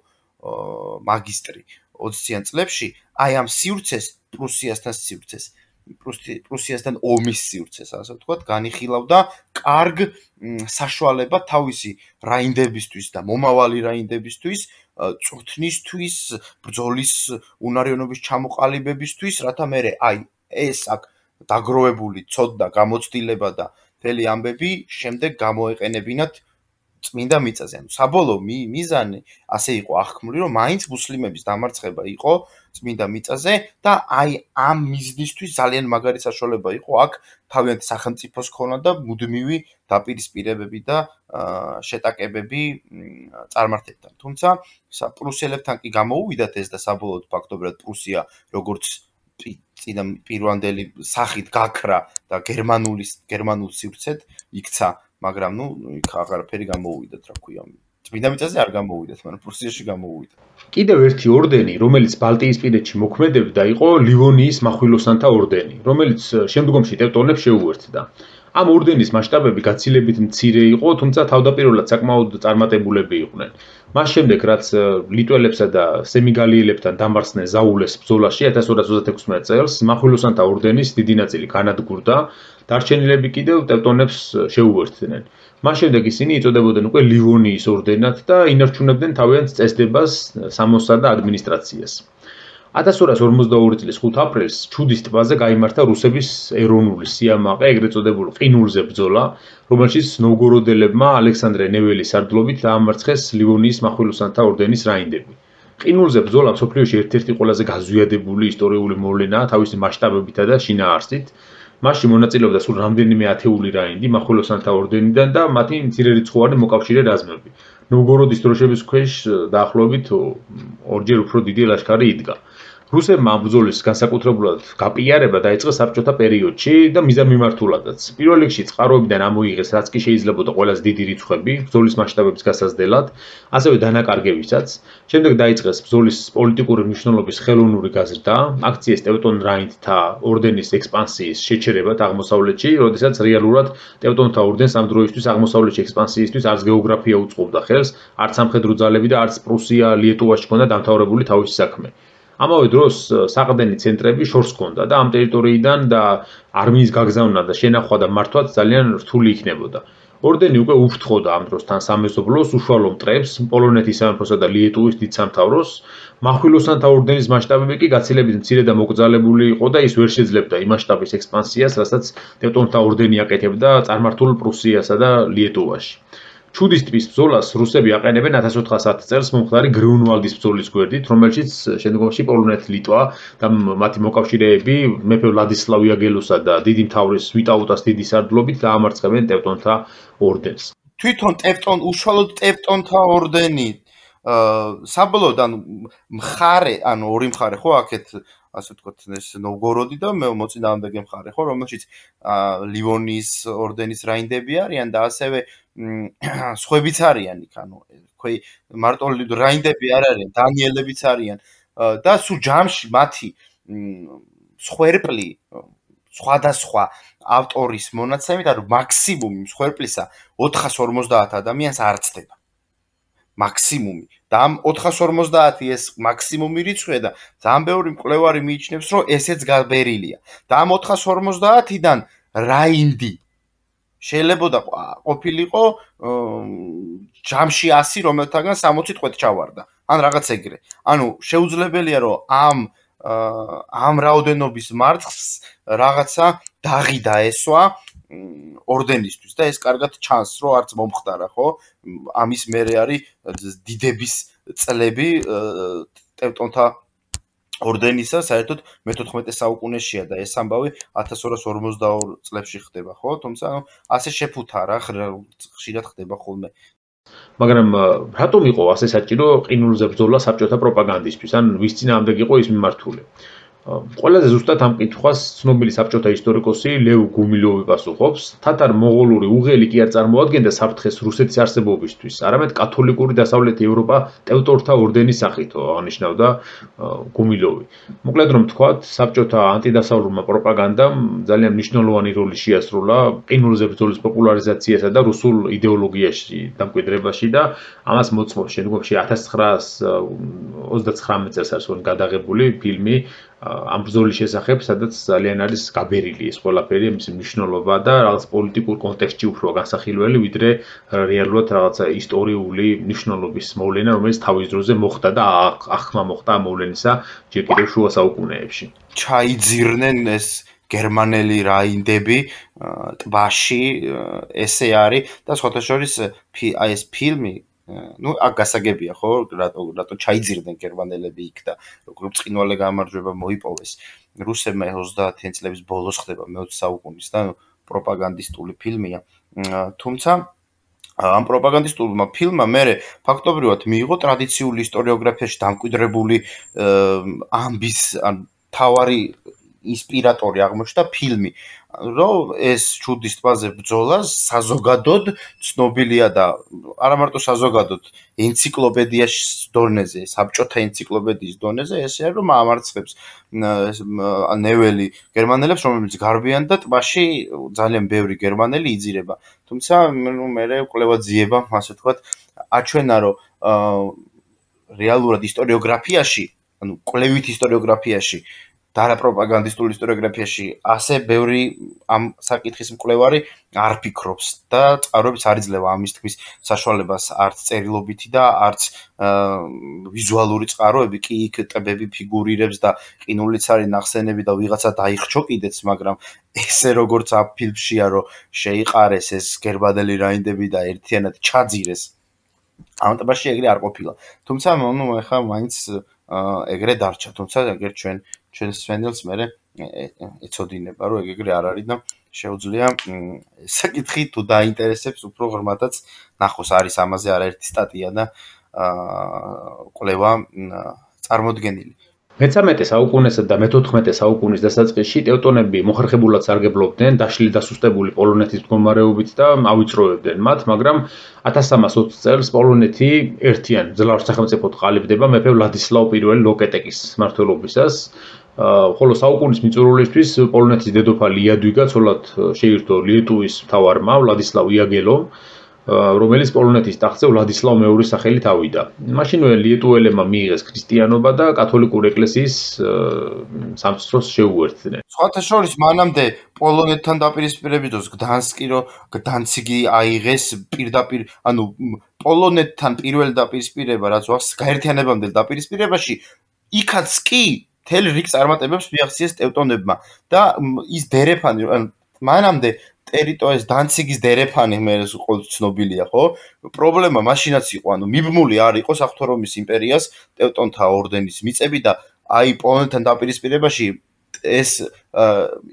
მაგისტრი ოციან წლებში, აი ამ სივრცეს, პრუსიასთან სივრცეს, პრუსიასთან ომის სივრცეს, ასე ვთქვათ, განიხილავდა კარგ საშუალება თავისი რაინდებისთვის და მომავალი რაინდებისთვის, წვრთნისთვის, ბრძოლის უნარიანობის ჩამოყალიბებისთვის, რათა მერე აი ეს აქ დაგროვებული ცოდნა, გამოცდილება და მთელი ამბები შემდეგ გამოეყენებინათ წმინდა მიწაზე. ანუ საბოლოო მიზანი ასე იყო აღქმული, რომ მაინც მუსლიმების დამარცხება იყო წმინდა მიწაზე და აი ამ მიზნისთვის ძალიან მაგარი საშუალება იყო აქ თავიანთი სახელმწიფოს ქონა და მუდმივი დაპირისპირებები და შეტაკებები წარმართებთან. თუმცა პრუსიელებთან კი გამოუვიდათ ეს და საბოლოოდ ფაქტობრივად პრუსია როგორც წინა პირვანდელი სახით გაქრა და გერმანული გერმანულ სივრცედ იქცა, მაგრამ ნუ იქ აღარაფერი გამოუვიდათ, რა ქვია. წმინდა მიწაზე არ გამოუვიდათ, მაგრამ პრუსიაში გამოუვიდა. კიდევ ერთი ორდენი, რომელიც ბალტიისპირეთში მოქმედებდა, იყო ლივონიის მახვილოსანთა ორდენი, რომელიც შემდგომში ტევტონებს შეუერთდა. ამ ორდენის მასშტაბები გაცილებით მცირე იყო, თუმცა თავდაპირველად საკმაოდ წარმატებულები იყვნენ. მას შემდეგ, რაც ლიტველებსა და სემიგალიელებთან დამარცხდნენ ზაულეს ბრძოლაში ათას ორას ოცდაექვსმეტ წელს, მახვილოსანთა ორდენის დიდი ნაწილი განადგურდა, დარჩენილები კიდევ ტევტონებს შეუერთდნენ. მას შემდეგ ისინი იწოდებოდნენ უკვე ლივონიის ორდენად და ინარჩუნებდნენ თავიანთ წესდებას, სამოსსა და ადმინისტრაციას. ათას ორას ორმოცდაორი წლის ხუთ აპრილს ჩუდის ტბაზე გაიმართა რუსების ეროვნული სიამაყე, ეგრეთ წოდებული ყინულზე ბრძოლა, რომელშიც ნოვგოროდელებმა ალექსანდრე ნეველის სარდლობით დაამარცხეს ლივონიის მახვილოსანთა ორდენის რაინდები. ყინულზე ბრძოლა მსოფლიოში ერთ-ერთი ყველაზე გაზვიადებული ისტორიული მოვლენაა თავისი მასშტაბებითა და შინაარსით. მასში მონაწილეობდა სულ რამდენიმე ათეული რაინდი მახვილოსანთა ორდენიდან და მათი მცირერიცხოვანი მოკავშირე რაზმები. ნოვგოროდის დროშების ქვეშ დაახლოებით ორჯერ უფრო დიდი ლაშქარი იდგა. რუსებმა ამ ბრძოლის განსაკუთრებულად გაპიარება დაიწყეს საბჭოთა პერიოდში და მიზანმიმართულადაც. პირველ რიგში წყაროებიდან ამოიღეს, რაც კი შეიძლებოდა ყველაზე დიდი რიცხვები ბრძოლის მასშტაბების გასაზრდელად, ასევე დანაკარგებისაც. შემდეგ დაიწყეს ბრძოლის პოლიტიკური მნიშვნელობის ხელოვნური გაზრდა, აქციეს ტევტონ რაინდთა ორდენის ექსპანსიის შეჩერებად აღმოსავლეთში, როდესაც რეალურად ტევტონთა ორდენს ამ დროისთვის აღმოსავლეთში ექსპანსიისთვის არც გეოგრაფია უწყობდა ხელს, არც სამხედრო ძალები და არც პრუსია, ლიეტუვაში ჰქონდა დამთავრებული თავისი საქმე. ამავე დროს საყრდენი ცენტრები შორს ჰქონდა და ამ ტერიტორიიდან და არმიის გაგზავნა და შენახვა და მართვაც ძალიან რთული იქნებოდა. ორდენი უკვე უფრთხოდა ამ დროსთან სამეზობლოს უშუალო მტრებს, პოლონეთის სამეფოსა და ლიეტუვის დიდ სამთავროს. მახვილოსანთა ორდენის მასშტაბები კი გაცილებით მცირე და მოკრძალებული იყო და ის ვერ შეძლებდა იმ მასშტაბის ექსპანსიას, რასაც ტევტონთა ორდენი აკეთებდა წარმართულ პრუსიასა და ლიეტუვაში. ჩუდის ტბის ბრძოლას რუსები აყენებენ ათას ოთხას ათი წელს მომხდარი გრიუნვალდის ბრძოლის გვერდით, რომელშიც შემდგომში პოლონეთი, ლიტვა და მათი მოკავშირეები მეფე ვლადისლავ იაგელოსა და დიდი მთავრის ვიტაუტას დიდის სარდლობით დაამარცხებენ ტევტონთა ორდენს. თვითონ ტევტონ უშუალოდ ტევტონთა ორდენი საბოლოოდ ანუ მხარე, ანუ ორი მხარე ხო აქეთ ასე ვთქვათ, ეს ნოვგოროდი და მოწინააღმდეგე მხარე ხო, რომელშიც ლივონიის ორდენის რაინდები არიან და ასევე სხვებიც არიან იქ, ანუ თქვი მარტო რაინდები არ არიან, დანიელებიც არიან და სულ ჯამში მათი მსხვერპლი სხვადასხვა ავტორის მონაცემით, ანუ მაქსიმუმი მსხვერპლისა ოთხას ორმოცდაათ ადამიანს არ ცდება. მაქსიმუმი და ამ ოთხას ორმოცდაათი ეს მაქსიმუმი რიცხვია და ძალიან ბევრი მკვლევარი მიიჩნევს, რომ ესეც გაბერილია. და ამ ოთხას ორმოცდაათიდან რაინდი შეიძლება ყოფილიყო ჯამში ასი, რომელთაგან სამოცი ტყვედ ჩავარდა. ან რაღაც ეგრე. ანუ შეუძლებელია, რომ ამ ამ რაოდენობის მარცხს რაღაცა დაღი დაესვა ორდენისთვის და ეს კარგად ჩანს, რომ არც მომხდარა, ხო? ამის მერე არის დიდების წლები ტევტონთა ორდენისა, საერთოდ მეთოთხმეტე საუკუნეშია და ეს ამბავი ათას ორას ორმოცდაორ წლებში ხდება, ხო? თუმცა ასე შეფუთა რა, ხშირად ხდება ხოლმე. მაგრამ რატომ იყო ასე საჭირო ყინულზე ბრძოლა საბჭოთა პროპაგანდისთვის? ან ვის წინააღმდეგ იყო ის მიმართული? ყველაზე ზუსტად ამ კითხვას ცნობილი საბჭოთა ისტორიკოსი ლევ გუმილოვი პასუხობს. თათარ-მოღოლური უღელი კი არ წარმოადგენდა საფრთხეს რუსეთის არსებობისთვის, არამედ კათოლიკური დასავლეთი ევროპა ტევტონთა ორდენის სახით აღნიშნავდა გუმილოვი. მოკლედ რომ ვთქვათ, საბჭოთა ანტიდასავლურმა პროპაგანდამ ძალიან მნიშვნელოვანი როლი შეასრულა ყინულზე ბრძოლის პოპულარიზაციასა და რუსულ იდეოლოგიაში დამკვიდრებაში და ამას მოწმობს შემდგომში ათას ცხრაას ოცდაცხრამეტ წელს არის გადაღებული ფილმი ამ ბრძოლის შესახებ, სადაც ძალიან არის გაბერილი ეს ყველაფერი, მისი მნიშვნელობა და რაღაც პოლიტიკურ კონტექსტში უფრო განსახილველი, ვიდრე რეალურად რაღაცა ისტორიული მნიშვნელობის მოვლენა, რომელიც თავის დროზე მოხდა და ახმა მოხდა ამ მოვლენისა ჯერ კიდევ შუა საუკუნეებში. ჩაიძირნენ ეს გერმანელი რაინდები ტბაში ესე არის და სხვათა შორის აი ეს ფილმი ну აქ გასაგებია ხო რატო რატო ჩაიძირდნენ გერმანელები იქ და როგორ ბრწყინვალე გამარჯვება მოიპოვეს რუსებმა ოცდაათი წლების ბოლოს ხდება მეოცე საუკუნის და პროპაგანდისტული ფილმია თუმცა ამ პროპაგანდისტულმა ფილმმა მერე ფაქტობრივად მიიღო ტრადიციული ისტორიოგრაფიაში დამკვიდრებული ამბის ან თავარი ინსპირატორი აღმოჩნდა ფილმი რომ ეს ჩუდის ტბაზე ბრძოლა საზოგადოდ ცნობილია და არა მარტო საზოგადოდ ენციკლოპედიაში დონეზე საბჭოთა ენციკლოპედიის დონეზე ესე არის რომ ამარცხებს ნეველი გერმანელებს რომლებიც გარბიან და ტბაში ძალიან ბევრი გერმანელი იძირება თუმცა ნუ მე კვლევა ძიება ასე ვთქვათ აჩვენა რომ რეალურად ისტორიოგრაფიაში ანუ კვლევით ისტორიოგრაფიაში და არა პროპაგანდისტულ ისტორიოგრაფიაში ასე ბევრი ამ საკითხის მკვლევარი არ ფიქრობს და წყაროებიც არ იძლევა ამის თქმის საშუალებას არც წერილობითი და არც ვიზუალური წყაროები კი იქ ტბები ფიგურირებს და ყინულიც არის ნახსენები და ვიღაცა დაიხრჩო კიდეც მაგრამ ესე როგორც ამ ფილმშია რომ შეიყარეს ეს გერმანელი რაინდები და ერთიანად ჩაძირეს ამ ტბაში ეგრე არ ყოფილა თუმცა ნუ ეხლა მაინც ეგრე დარჩა თუმცა ეგრე ჩვენ ჩვენ სვენელს მე ეცოდინება რომ ეგ ეგრე არ არის და შეუძლია საკითხი თუ დაინტერესებს უფრო ღრმადაც ნახოს არის ამაზე არაერთი სტატია და კვლევა წარმოდგენილი მეთერთმეტე საუკუნესა და მეთოთხმეტე საუკუნის დასაწყისში ტევტონები მოხერხებულად სარგებლობდნენ დაშლილი და სუსტებული პოლონეთის მდგომარეობით და ავიწროვებდნენ მათ, მაგრამ ათას სამას ოცი წელს პოლონეთი ერთიან ძლავრ სახელმწიფოდ ყალიბდება მეფე ვლადისლავ პირველი ლოკეტეკის მმართველობისას, ხოლო საუკუნის მიწურულისთვის პოლონეთის დედოფალი იადვიგა ცოლად შეირთო ლიეტუვის მთავარმა ვლადისლავ იაგელომ რომელიც პოლონეთის ტახტზე ვლადისლავ მეორის სახელით ავიდა. მაშინვე ლიეტუელებმა მიიღეს ქრისტიანობა და კათოლიკური ეკლესიის სამწვრთნოს შეუერთდნენ. სხვათა შორის მანამდე პოლონეთთან დაპირისპირების დროს გდანსკი რო გდანციგი აიღეს პირდაპირ, ანუ პოლონეთთან პირველი დაპირისპირება რაც ვახს გაერთიანებამდელ დაპირისპირებაში იქაც კი მთელი რიგ წარმატებებს მიაღწიეს ტევტონებმა და ის დერეფანი მანამდე ტერიტორიის დანციგის დერეფანი მე ყოველ ცნობილია ხო პრობლემა მაშინაც იყო ანუ მიბმული არ იყო საღვთო რომის იმპერიას ტევტონთა ორდენის მიწები და აი პოლონეთთან დაპირისპირებაში ეს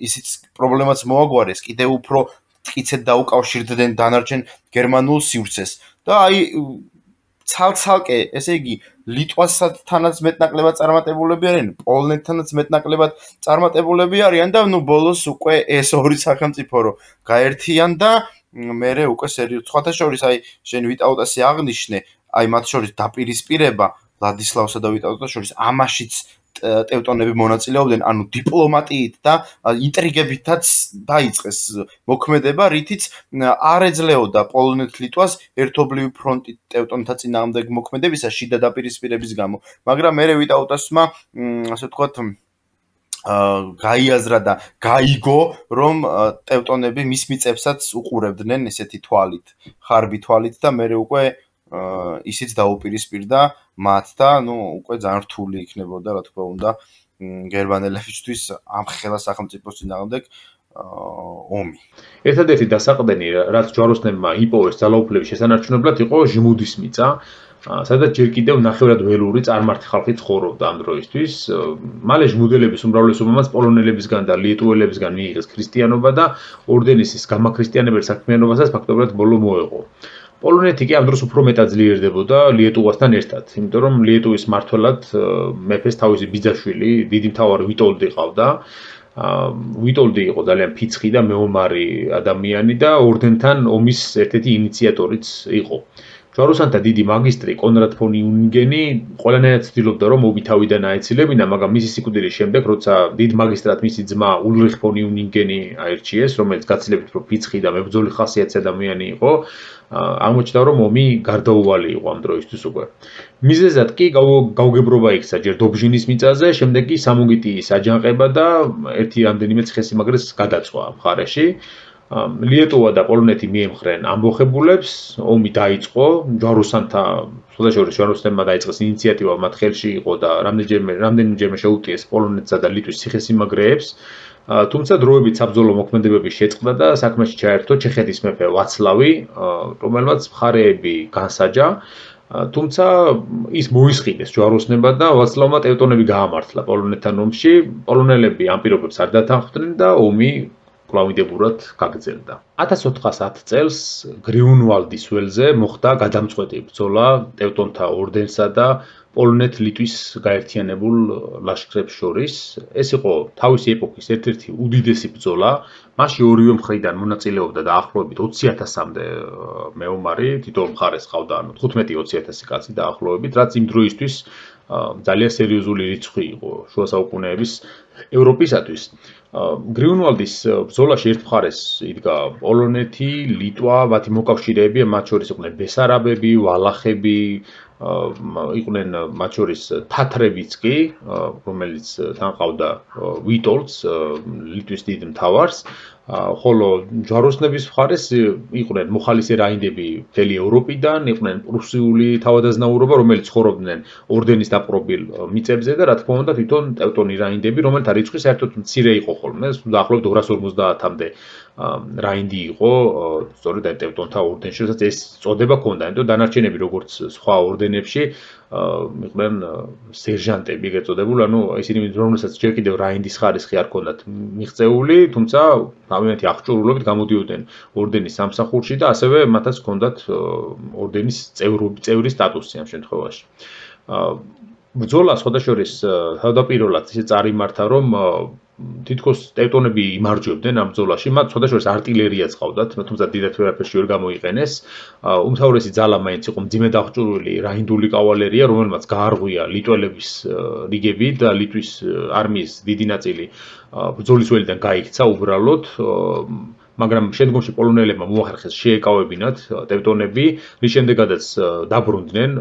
ისიც პრობლემაც მოაგვარეს კიდევ უფრო მტკიცედ დაუკავშირდნენ დანარჩენ გერმანულ სივრცეს და აი ცალ-ცალკე ესე იგი ლიტვასთანაც მეტნაკლებად წარმატებულები არიან პოლონეთთანაც მეტნაკლებად წარმატებულები არიან და ნუ ბოლოს უკვე ეს ორი სახელმწიფო რო გაერთიან და მერე უკვე სერიოზულად სხვათა შორის აი შენ ვიტაუტასი აღნიშნე აი მათ შორის დაპირისპირება ვლადისლავსა და ვიტაუტას შორის ამაშიც ტევტონები მონაწილეობდნენ ანუ დიპლომატიით და ინტრიგებითაც დაიწყეს მოქმედება რითიც არ ეძლეოდა პოლონეთ-ლიტვას ერთობლივი ფრონტით ტევტონთა წინააღმდეგ მოქმედებისა შიდა დაპირისპირების გამო მაგრამ მერე ვიტაუტასმა ასე ვთქვათ გაიაზრა და გაიგო რომ ტევტონები მის მიწებსაც უყურებდნენ ესეთი თვალით ხარბი თვალით და მერე უკვე ისიც დაუპირისპირდა მათ და ნუ უკვე ძალიან რთული იქნებოდა რა თქმა უნდა გერმანელებისთვის ამ ხელა სახელმწიფოს წინააღმდეგ ომი. ერთადერთი დასაყრდენი რაც ჯვაროსნებმა იპოვეს ძალაუფლების შესანარჩუნებლად იყო ჟმუდის მიწა, სადაც ჯერ კიდევ ნახევრად ველური წარმართი ხალხი ცხოვრობდა ამ დროისთვის. მალე ჟმუდელების უმრავლესობამაც პოლონელებისგან და ლიეტუელებისგან მიიღეს ქრისტიანობა და ორდენის გამაქრისტიანებელ საქმიანობასაც ფაქტობრივად ბოლო მოეღო. პოლონეთი კი ამ დროს უფრო მეტად ძლიერდებოდა ლიეტუვასთან ერთად, იმიტომ რომ ლიეტუვის მმართველად მეფეს თავისი ბიძაშვილი, დიდი მთავარი ვიტოლდი ყავდა. ვიტოლდი იყო ძალიან ფიცხი და მეომარი ადამიანი და ორდენთან ომის ერთ-ერთი ინიციატორიც იყო. ჯვაროსანთა დიდი მაგისტრი კონრად ფონ იუნგენი ყველანაირად ცდილობდა რომ ომი თავიდან აეცილებინა, მაგრამ მისი სიკვდილის შემდეგ, როცა დიდ მაგისტრად მისი ძმა ულრიხ ფონ იუნგენი აირჩიეს, რომელიც გაცილებით უფრო ფიცხი და მებრძოლი ხასიათის ადამიანი იყო, აღმოჩნდა რომ ომი გარდაუვალი იყო ამ დროისთვის უკვე. მიზეზად კი გაუგებრობა იქცა ჯერ დობჟინის მიწაზე, შემდეგ კი სამოგიტიის აჯანყება და ერთი რამდენიმე ციხესიმაგრეს გადაწვა მხარეში. ლიეტუვა და პოლონეთი მიემხრნენ ამბოხებულებს, ომი დაიწყო, ჯვაროსანთა, სხვათა შორის ჯვაროსნებმა დაიწყეს ინიციატივა მათ ხელში იყო და რამდენიმეჯერმე რამდენიმეჯერმე შეუტიეს პოლონეთსა და ლიტვის ციხესიმაგრეებს თუმცა დროებით საბრძოლო მოქმედებები შეწყდა და საქმეში ჩაერთო ჩეხეთის მეფე ვაცლავი, რომელმაც მხარეები განსაჯა. თუმცა ის მოისყიდეს ჯვაროსნება და ვაცლავმა ტევტონები გაამართლა პოლონეთთან ომში. პოლონელები ამ პირობებს არ დათანხმდნენ და ომი კვლავინდებურად გაგრძელდა. ათას ოთხას ათი წელს გრიუნვალდის ველზე მოხდა გადამწყვეტი ბრძოლა ტევტონთა ორდენსა და პოლონეთ-ლიტვის გაერთიანებულ ლაშქრებს შორის. ეს იყო თავისი ეპოქის ერთ-ერთი უდიდესი ბრძოლა. მასში ორივე მხრიდან მონაწილეობდა დაახლოებით ოცი ათასამდე მეომარი, თითოეულ მხარეს ყავდა ანუ თხუთმეტი ოცი ათასი კაცი დაახლოებით, რაც იმ დროისთვის ძალიან სერიოზული რიცხვი იყო შუა საუკუნეების ევროპისათვის. გრიუნვალდის ბრძოლაში ერთ მხარეს იდგა პოლონეთი, ლიტვა, მათი მოკავშირეები, მათ შორის იყვნენ ბესარაბები, ვალახები, იყვნენ მათ შორის თათრებიც კი, რომელიც თან ყავდა ვიტოლდს, ლიტვის დიდ მთავარს, ხოლო ჯვაროსნების მხარეს იყვნენ მოხალისე რაინდები მთელი ევროპიდან, იყვნენ პრუსიული თავადაზნაურობა, რომელიც ცხოვრობდნენ ორდენის დაპყრობილ მიწებზე და რა თქმა უნდა თვითონ ტევტონი რაინდები, რომელთა რიცხვი საერთოდ მცირე იყო ხოლმე, დაახლოებით ორას ორმოცდაათამდე რაინდი იყო სწორედ ტევტონთა ორდენში, რასაც ეს წოდება ჰქონდა, იმიტომ დანარჩენები როგორც სხვა ორდენებში იყვნენ სერჟანტები ეგეწოდებული, ანუ ისინი რომელსაც ჯერ კიდევ რაინდის ხარისხი არ ჰქონდათ მიღწეული, თუმცა თავიანთი აღჭურვილობით გამოდიოდნენ ორდენის სამსახურში და ასევე მათაც ჰქონდათ ორდენის წევრის სტატუსი ამ შემთხვევაში. ბრძოლა სხვადასხვა თავდაპირველად ისე წარიმართა, რომ თითქოს ტევტონები იმარჯვებდნენ ამ ბრძოლაში, მათ სხვადასხვა артиლერიაც ყავდათ, თუმცა დიდად ვერაფერში ვერ გამოიყენეს. უმთავრესი ძალა მაინც იყო მძიმე დაღჭურვილი რაინდული კავალერია, რომელმაც გაარღვია ლიტველების რიგები და ლიტვის არმიის დიდი ნაწილი ბრძოლის ველიდან გაიქცა უბრალოდ. მაგრამ შემდგომში პოლონელებმა მოახერხეს შეეკავებინათ ტევტონები, რის შემდეგაც დაბრუნდნენ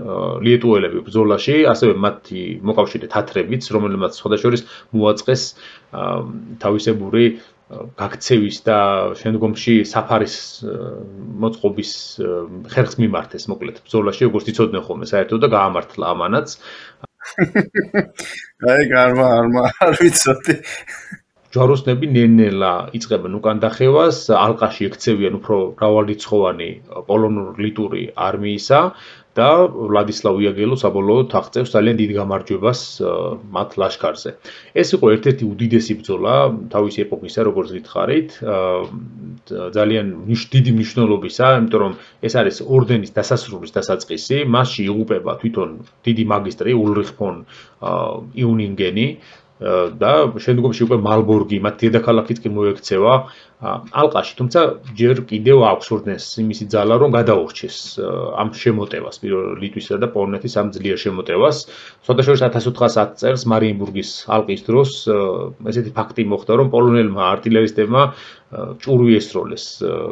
ლიეტუელები ბრძოლაში, ასევე მათი მოკავშირე თათრებიც, რომელმაც სხვადასხვა მოაწყეს თავისებური გაქცევის და შემდგომში საფარის მოწყობის ხერხს მიმართეს, მოკლედ ბრძოლაში, როგორც იცოდნენ ხოლმე საერთოდ და გაამართლა ამანაც. აი, გარმა არმა არ ვიცოდი. ჯვაროსნები ნელ-ნელა იწყებენ უკან დახევას, ალყაში ექცევიან უფრო მრავალრიცხოვანი პოლონურ-ლიტური არმიისა და ვლადისლავ იაგელო საბოლოოდ აღწევს ძალიან დიდ გამარჯვებას მათ ლაშქარზე. ეს იყო ერთ-ერთი უდიდესი ბრძოლა თავისი ეპოქისა, როგორც გითხარით, ძალიან დიდი მნიშვნელობისა, იმიტომ რომ ეს არის ორდენის დასასრულის დასაწყისი, მასში იღუპება თვითონ დიდი მაგისტრი ულრიხ ფონ იუნინგენი და შემდგომში უკვე მალბორგი, მათ დედაქალაქიც კი მოექცევა ალყაში, თუმცა ჯერ კიდევ აქვს ორდენს იმისი ძალა, რომ გადაურჩეს ამ შემოტევას, ლიტვისა და პოლონეთის ამ ძლიერ შემოტევას. სხვადასხვა ათას ოთხას ათი წელს მარიენბურგის ალყის დროს ესეთი ფაქტი მოხდა, რომ პოლონელმა артиლერისტებმა ჭურვი ესროლეს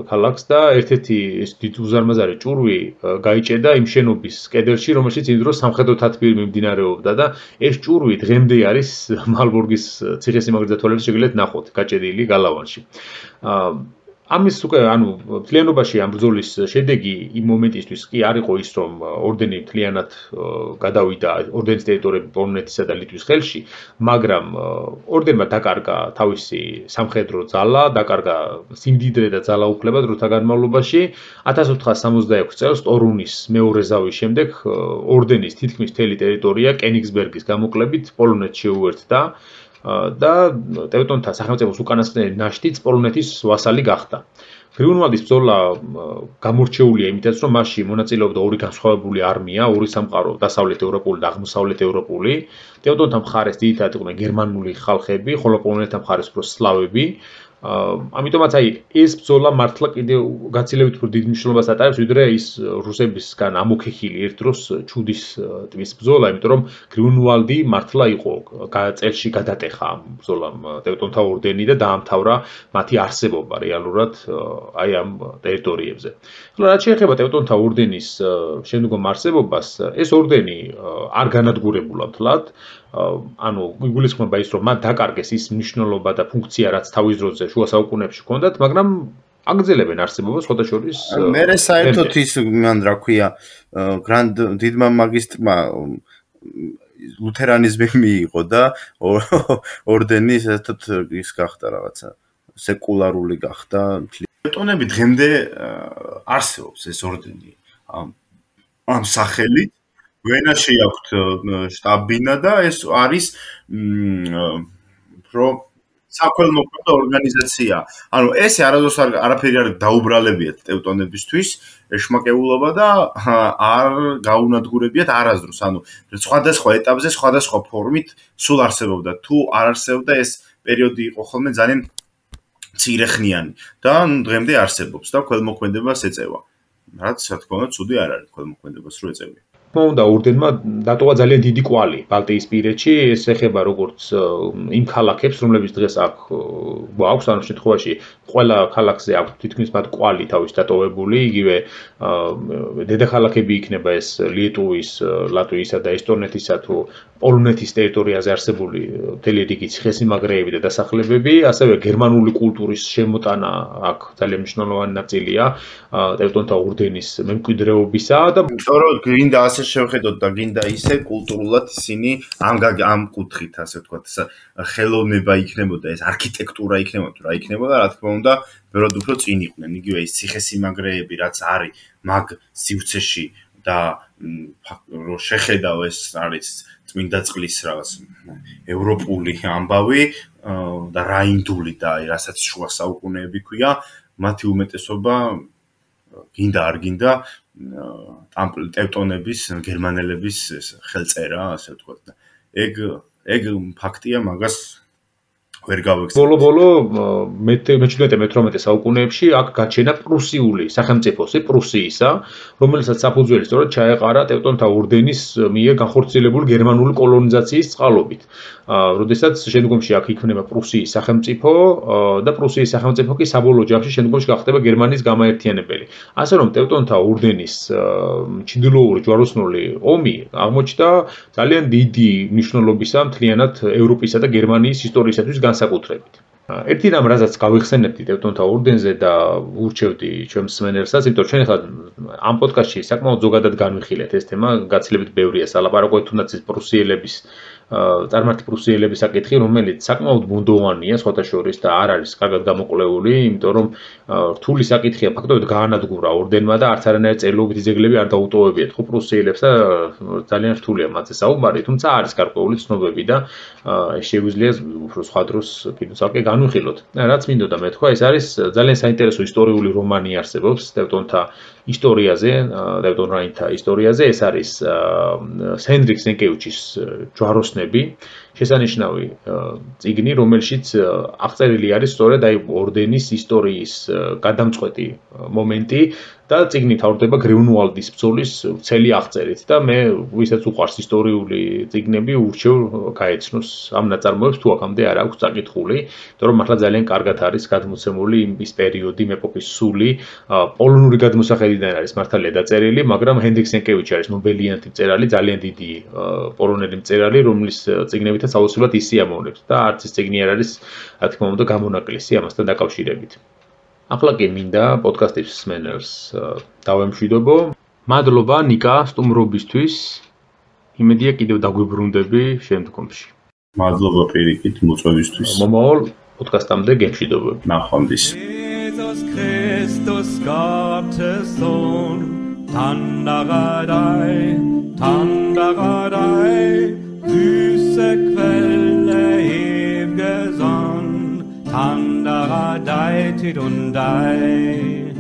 ქალაქს და ერთ-ერთი ეს დიდ უზარმაზარი ჭურვი გაიჭედა იმ შენობის კედელში, რომელშიც იმ დროს სამხედრო თათბირი მიმდინარეობდა და ეს ჭურვი დღემდე არის მალბორგის ციხესიმაგრე ძათვალების შეგიძლიათ ნახოთ გაჭედილი გალავანში. ამის უკვე ანუ მთლიანობაში ამ ბრძოლის შედეგი იმ მომენტისთვის კი არ იყო ის, რომ ორდენი მთლიანად გადავიდა ორდენის ტერიტორიები პოლონეთისა და ლიტვის ხელში, მაგრამ ორდენმა დაკარგა თავისი სამხედრო ძალა, დაკარგა სიმდიდრე და ძალაუფლება დროთა განმავლობაში. ათას ოთხას სამოცდაექვსი წელს ტორუნის მეორე ზავის შემდეგ ორდენის თითქმის მთელი ტერიტორია კენიგსბერგის გამოკლებით პოლონეთს შეუერთდა და ტევტონთა სახელმწიფოს უკანასკნელი ნაშთიც პოლონეთის ვასალი გახდა. გრიუნვალდის ბრძოლა გამორჩეულია იმითაც, რომ მასში მონაწილეობდა ორი განსხვავებული არმია, ორი სამყარო, დასავლეთ ევროპული და აღმოსავლეთ ევროპული. ტევტონთა მხარეს ძირითადად იყვნენ გერმანული ხალხები, ხოლო პოლონეთთა მხარეს უფრო სლავები. ამიტომაც აი ეს ბრძოლა მართლა კიდევ გაცილებით უფრო დიდ მნიშვნელობას ატარებს, ვიდრე ის რუსებისგან ამოქეხილი ერთ დროს ჩუდის ტბის ბრძოლა, იმიტომ რომ გრიუნვალდი მართლა იყო წელში გადატეხა ამ ბრძოლამ ტევტონთა ორდენი და დაამთავრა მათი არსებობა რეალურად აი ამ ტერიტორიებზე. ხოლო რაც შეეხება ტევტონთა ორდენის შემდგომ არსებობას, ეს ორდენი არ განადგურებულა მთლად. ანუ იგულისხმება ის, რომ მათ დაკარგეს ის მნიშვნელობა და ფუნქცია, რაც თავის დროზე შუა საუკუნეებში ჰქონდათ, მაგრამ აგრძელებენ არსებობას სხვადასხვა. მე საერთოდ ის მან რა ქვია, გრანდ დიდმა მაგისტრმა ლუთერანიზმი მიიღო და ორდენი ესეთად ის გახდა რაღაცა სეკულარული გახდა. ტევტონები დღემდე არსებობს ეს ორდენი ამ სახელით. ვენაში აქვთ შტაბ-ბინა და ეს არის რომ საქველმოქმედო ორგანიზაცია. ანუ ეს არასდროს არაფერი არ დაუბრალებიათ ტევტონებისთვის, ეშმაკეულობა და არ გაუნადგურებიათ არასდროს. ანუ სხვადასხვა ეტაპზე, სხვადასხვა ფორმით სულ არსებობდა. თუ არ არსებობდა ეს პერიოდი იყო ხოლმე ძალიან მცირეხნიანი და დღემდე არსებობს და ქველმოქმედებას ეწევა. რაც რა თქმა უნდა ცუდი არ არის ქველმოქმედებას რო ეწევია. და ორდენმა დატოვა ძალიან დიდი კვალი ბალტიისპირეთში, ეს ეხება როგორც იმ ქალაქებს, რომლებიც დღეს აქ გვაქვს, ანუ შემთხვევაში ყველა ქალაქზე აქვს თითქმის მათ კვალი თავის დატოვებული, იგივე დედაქალაქები იქნება ეს ლიეტუვის, ლატვიისა და ესტონეთისა თუ პოლონეთის ტერიტორიაზე არსებული მთელი რიგი ციხესიმაგრეები და დასახლებები, ასევე გერმანული კულტურის შემოტანა აქ ძალიან მნიშვნელოვანი ნაწილია ტევტონთა ორდენის მემკვიდრეობისა და სწორედ გინდა ასე შევხედოთ და გინდა ისე კულტურულად ისინი ამ ამ კუთხით ასე ვთქვათ ხელოვნება იქნებოდა ეს არქიტექტურა იქნებოდა რა იქნებოდა რა თქმა უნდა ბევრად უფრო წინ იყვნენ იგივე ის ციხესიმაგრეები რაც არის მაგ სივრცეში და რო შეხედავ ეს არის წმინდა წყლის რაღაც ევროპული ამბავი და რაინდული და რასაც შუა საუკუნეები ქვია მათი უმეტესობა გინდა არ გინდა ტევტონების გერმანელების ხელწერა ასე ვთქვათ და ეგ ეგ ფაქტია მაგას ვერ გავექცევ. ბოლო-ბოლო მეჩვიდმეტე მეთვრამეტე საუკუნეებში აქ გაჩენა პრუსიული სახელმწიფოსი პრუსიისა, რომელსაც საფუძველი სწორედ ჩაეყარა ტევტონთა ორდენის მიერ განხორციელებული გერმანული კოლონიზაციის წყალობით. როდესაც შემდგომში აქ იქმნება პრუსიის სახელმწიფო და პრუსიის სახელმწიფო კი საბოლოო ჯამში შემდგომში გახდება გერმანიის გამაერთიანებელი. ასე რომ ტევტონთა ორდენის ჩრდილოური ჯვაროსნული ომი აღმოჩნდა ძალიან დიდი მნიშვნელობისა მთლიანად ევროპისა და გერმანიის ისტორიისათვის განსაკუთრებით. ერთი რამ რასაც გავიხსენებდი ტევტონთა ორდენზე და ურჩევდი ჩვენ მსმენელსაც, იმიტომ რომ ჩვენ ახლა ამ პოდკასტში საკმაოდ ზოგადად განვიხილეთ ეს თემა, გაცილებით ბევრია სალაპარაკო, თუნდაც ის პრუსიელების წარმართი პრუსიელების საკითხი, რომელიც საკმაოდ ბუნდოვანია სხვათა შორის და არ არის კარგად გამოკვლეული, იმიტომ რომ რთული საკითხია ფაქტობრივად გაანადგურა ორდენმა და არც არანაირი წერილობითი ძეგლები არ დაუტოვებიათ ხო პრუსიელებს და ძალიან რთულია მათზე საუბარი, თუმცა არის გარკვეული ცნობები და შეგვიძლია უფრო სხვა დროს კიდევ განვიხილოთ. რაც მინდოდა მეთქვა, ეს არის ძალიან საინტერესო ისტორიული რომანი არსებობს ტევტონთა ისტორიაზე, ტევტონ რაინთა ისტორიაზე, ეს არის ჰენდრიკ სენკევიჩის ჯვაროსნები, შესანიშნავი წიგნი, რომელშიც აღწერილი არის სწორედ აი ორდენის ისტორიის გადამწყვეტი მომენტი და წიგნი თავდება გრიუნვალდის ბრძოლის ვრცელი აღწერით და მე ვისაც უყვარს ისტორიული წიგნები ურჩევ გაეცნოს ამ ნაწარმოებს თუ აქამდე არ აქვს წაკითხული, იმიტომ რომ მართლა ძალიან კარგად არის გადმოცემული ის პერიოდი, ეპოქის სული, პოლონური გადმოსახედიდან არის მართალია დაწერილი, მაგრამ ჰენდრიკ სენკევიჩი არის ნობელიანტი მწერალი, ძალიან დიდი პოლონელი მწერალი, რომლის წიგნებითაც აუცილებლად ის სიამოვნებს და არც ეს წიგნი არ არის, რა თქმა უნდა, გამონაკლისი ამასთან დაკავშირებით. ახლა კი მინდა პოდკასტის მსმენელს დავემშვიდობო. მადლობა ნიკა სტუმრობისთვის. იმედია კიდევ დაგვიბრუნდები შემდგომში. მადლობა პირიქით მოწვევისთვის. მომავალ პოდკასტამდე გემშვიდობები. ნახვამდის. Jesus Christus Gottes Sohn, Tandaradei, Tandaradei, süße Quelle ew'ge Sonn, Tandaradei, Tidundei.